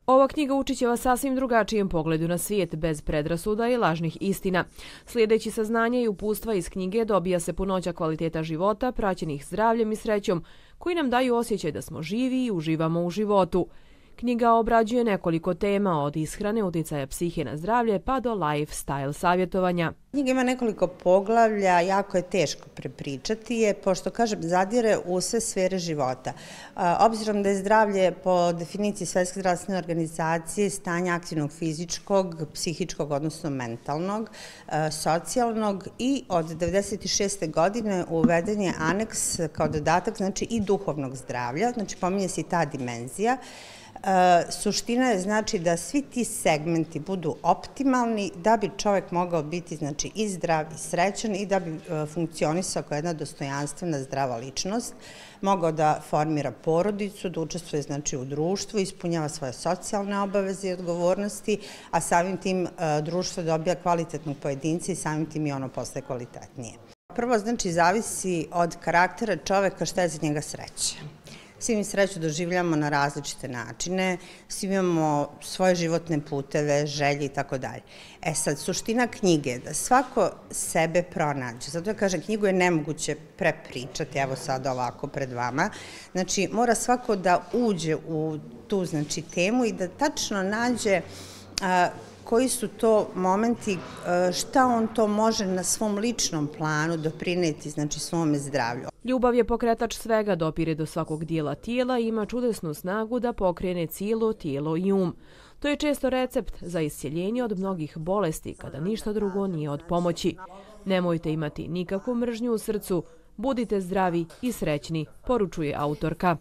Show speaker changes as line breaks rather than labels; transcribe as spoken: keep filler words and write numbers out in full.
Ova knjiga učit će vas sasvim drugačijem pogledu na svijet, bez predrasuda i lažnih istina. Slijedeći saznanja i upustva iz knjige dobija se punoća kvaliteta života, praćenih zdravljem i srećom, koji nam daju osjećaj da smo živi i uživamo u životu. Knjiga obrađuje nekoliko tema, od ishrane, uticaja psihe na zdravlje pa do lifestyle savjetovanja.
Knjiga ima nekoliko poglavlja, jako je teško prepričati je, pošto, kažem, zadire u sve sfere života. Obzirom da je zdravlje po definiciji Svetske zdravstvene organizacije stanje aktivnog fizičkog, psihičkog, odnosno mentalnog, socijalnog, i od devedeset šeste godine uveden je aneks kao dodatak, znači i duhovnog zdravlja, znači pominje se i ta dimenzija. Suština je znači da svi ti segmenti budu optimalni da bi čovjek mogao biti znači i zdrav i srećan i da bi funkcionisao kao jedna dostojanstvena zdrava ličnost, mogao da formira porodicu, da učestvuje znači u društvu, ispunjava svoje socijalne obaveze i odgovornosti, a samim tim društvo dobija kvalitetnog pojedinca i samim tim i ono postaje kvalitetnije. Prvo znači zavisi od karaktera čovjeka šta je za njega sreća. Svi mi sreću doživljamo na različite načine, svi imamo svoje životne puteve, želje i tako dalje. E sad, suština knjige je da svako sebe pronađe. Zato ja kažem, knjigu je nemoguće prepričati, evo sad ovako pred vama. Znači, mora svako da uđe u tu znači, temu i da tačno nađe a, koji su to momenti, šta on to može na svom ličnom planu doprineti, znači svome zdravlju.
Ljubav je pokretač svega, dopire do svakog dijela tijela i ima čudesnu snagu da pokrene cijelo tijelo i um. To je često recept za iscjeljenje od mnogih bolesti, kada ništa drugo nije od pomoći. Nemojte imati nikakvu mržnju u srcu, budite zdravi i srećni, poručuje autorka.